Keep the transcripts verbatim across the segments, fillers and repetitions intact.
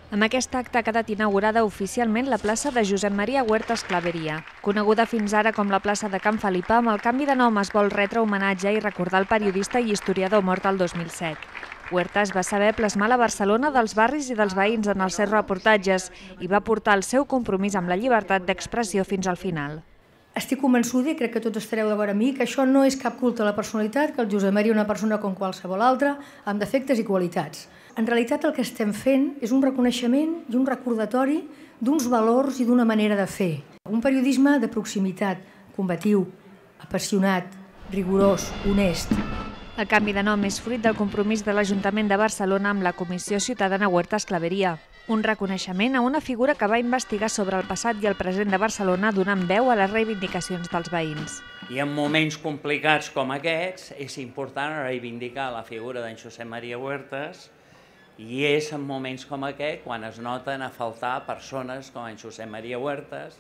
Amb aquest acte ha quedat inaugurada oficialment la plaça de Josep Maria Huertas Claveria. Coneguda fins ara com la plaça de Can Felipa, amb el canvi de nom es vol retre homenatge i recordar el periodista i historiador mort el dos mil set. Huertas va saber plasmar la Barcelona dels barris i dels veïns en els seus reportatges i va portar el seu compromís amb la llibertat d'expressió fins al final. Estic convençuda, i crec que tots estareu d'acord amb mi, que això no és cap culte a la personalitat, que el Josep Maria és una persona com qualsevol altra, amb defectes i qualitats. En realitat el que estem fent és un reconeixement i un recordatori d'uns valors i d'una manera de fer. Un periodisme de proximitat, combatiu, apassionat, rigorós, honest. El canvi de nom és fruit del compromís de l'Ajuntament de Barcelona amb la Comissió Ciutadana Huertas Claveria, un reconeixement a una figura que va investigar sobre el passat i el present de Barcelona donant veu a les reivindicacions dels veïns. I en moments complicats com aquests és important reivindicar la figura d'en Josep Maria Huertas i és en moments com aquest quan es noten a faltar persones com en Josep Maria Huertas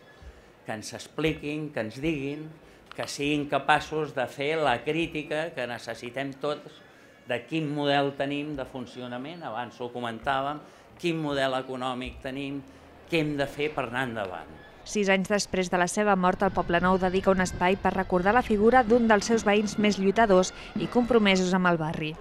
que ens expliquin, que ens diguin, que siguin capaços de fer la crítica que necessitem tots de quin model tenim de funcionament, abans ho comentàvem, quin model econòmic tenim, què hem de fer per anar endavant. Sis anys després de la seva mort, el Poblenou dedica un espai per recordar la figura d'un dels seus veïns més lluitadors i compromesos amb el barri.